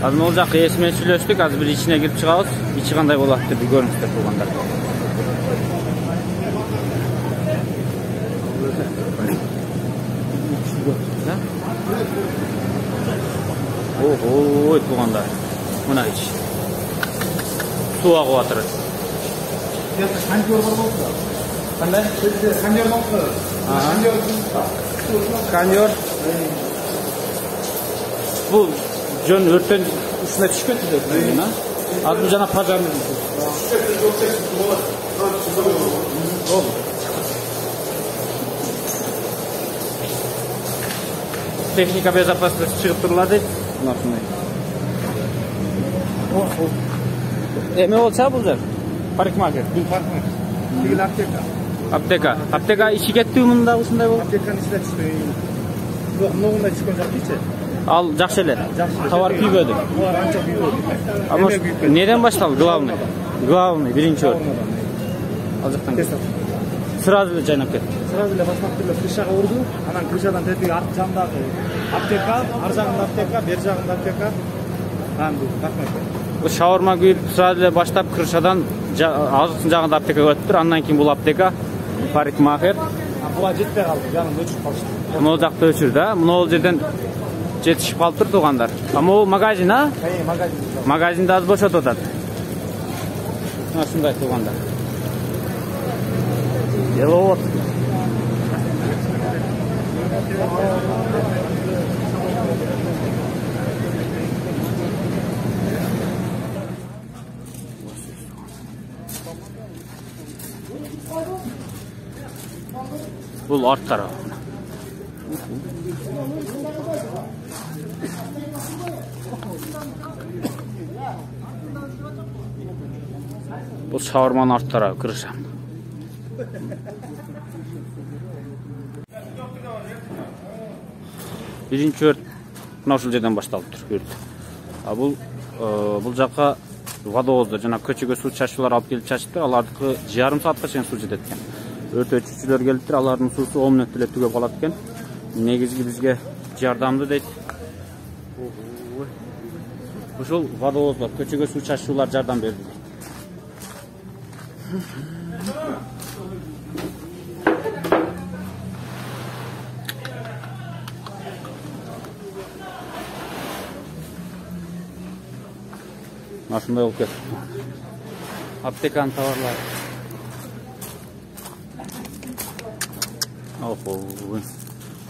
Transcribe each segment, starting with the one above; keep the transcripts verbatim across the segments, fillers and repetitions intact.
Азыр ол жакка ээси менен сүйлөштүк, азыр бир ичине кирип чыгабыз. Ичи кандай болот деп көрүңүздөр туугандар. Ой, туугандар. Мына ич. Суу агып атыр. Кондер бар болду. Кандай? Кондер болду. Кондер. Кондер. Бул жөн өрттөн үстүнө түшкөн түзөт. Азыр жана пожарный. Техника безопасности чыгып турулат дейт. Мына ушундай. Эме болчу бул жер? Парикмахер. Бул парикмахер. Тигил аптека. Аптека. Аптека ичи кеттиби мында ушундай болуп? Аптеканын ичине түшпөй. Бирок мындай түшкөн жок дейчи. Ал жакшы эле. Товар күйбөдү. Товар анча күйбөдү. Ама неден башталды главный? Главный биринчи өрт. Ал жактан сразу эле жайнап кетти. Сразу эле баштап эле крышага урду. Анан крышадан тетиги арт жагындагы аптека, ар жагында аптека, бер жагында аптека. Анан бул парикмахер. Бул шаурма күйүп сразу эле баштап крышадан азыркы жагында аптекага өттүр. Андан кийин бул аптека, парикмахер. Буга жетпей калды, жанын өчүрүп калышты. Мына жакта өчүрдү, а? Мына жерден жетишип калыптыр туугандар. А могу магазин, а? Э, магазин. Магазинди аз бошотуп атат. Мына ушундай туугандар. Деловод. Бул арт тарап. Бул шаурманын арт тарабы, крыша. Биринчи өрт мына ушул жерден башталыптыр, өрт. А бул бул жакка водовоздор жана көчөгө суу чачуулар алып келип чачыптыр. Алардыкы жарым саатка чейин суу жетет экен. Өрт өчүүчүлөр келиптир, алардын суусу он мүнөттө эле түгөп калат экен. Негизги бизге жардамды дейт. Ушул водовоздор көчөгө суу чачуулар жардам берди. Ушундай болуп кетти. Аптеканын товарлары. Охо,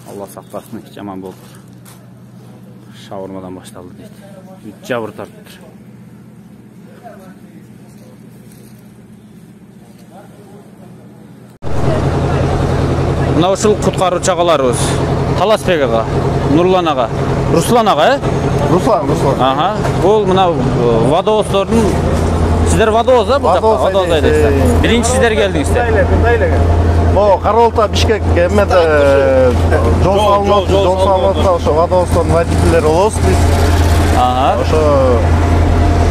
Алла сактасын, жаман болду. Шаурмадан башталды дейт. Үч жабыр тартыптыр. Мына ушул куткаруучу агаларыбыз. Таласбек ага, Нурлан ага, Руслан ага, э? Руслан, Руслан. Ага. Бул мына водовоздордун сиздер водовоз да бул жакка? Водовоз айдайсыздар. Биринчи сиздер келдиңиздер. Мындай эле. О, Каролта Бишкек эмеде жол салынып, жол салынып, ошо водовоздордун водительдери болобуз биз. Ага. Ошо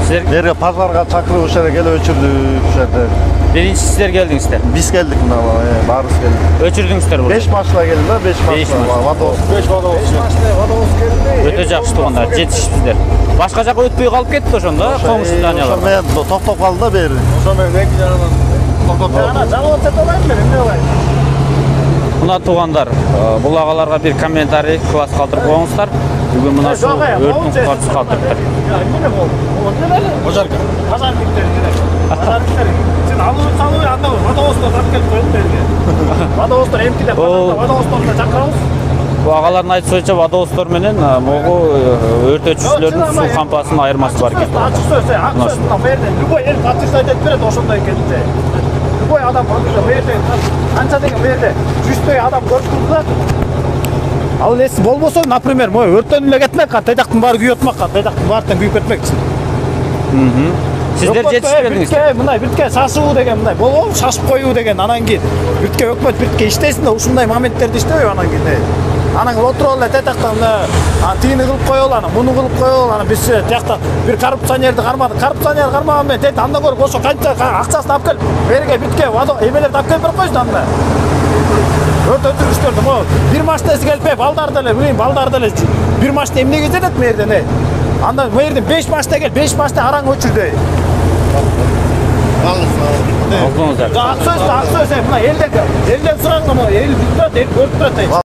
сиздер берге пазарга чакырып ошо жерге келип өчүрдүк ошо жерде. Биринчи сиздер келдиңиздер. Биз келдик мына, баарыбыз келдик. Өчүрдүңүздөр бул. беш машина келди да, беш машина. Водовоз. беш машина водовоз келди. Өтө жакшы туугандар, жетишиптиздер. Башка жака өтпөй калып кетти ошондо, коңуш зданиялар. Ошо менен токтоп калды да бери. Ошо менен эки жарадан токтоп калды. Ана жабылып кетпейм мен, эмне кылайын? Мына туугандар, бул агаларга бир комментарий класс калтырып коюңуздар. Бүгүн мына ушул өрттүн куткарчысы калтырыптыр. Эмне болду? Ожарка. Пожарниктер керек. Пожарниктер. Сен алып салып, анда водовоздор тап келип коюп берди. Водовоздор эмкиде пожарда водовоздорду чакырабыз. Бул агалардын айтышынча водовоздор менен могу өрт өчүүчүлөрдүн суу кампасынын айырмасы бар экен. Ачык сөз, ак сөз мына берди. Любой эл подпись айтып берет ошондой экенинде. Любой адам подпись берди. Канча деген берди. жүздөй адам көрүп турду. Ал эс болбосо, например, мой өрттөн эле кетмек, тайдактын баары күйүп атмак, тайдактын баардыгын күйүп кетмекчи. Мм. Сиздер жетишип келдиңиздер. Мындай биртке шашуу деген мындай болобу, шашып коюу деген, анан кийин биртке өкмөт биртке иштесин да, ушундай моменттерди иштебейби анан кийин. Анан отуруп эле тайтактан тигини кылып коелу, анан муну кылып коелу, анан биз тиякта бир коррупционерди кармадык. Коррупционер кармаган менен тет андан көрүп ошо канча акчасын алып келип, берге битке эмелерди алып келип берип койсун анда. Өрт өчүргүчтөрдү могу бир машинасы келип, балдар деле, билейм, балдар деле бир машина эмнеге жетет мерден, э? Анда bu yerden beş başta gel, beş başta aran öçür dey. Алдыңыздар. Ак сөз, ак сөз, мына элден, элден сураңга, el бүтөт, el көрүп турат.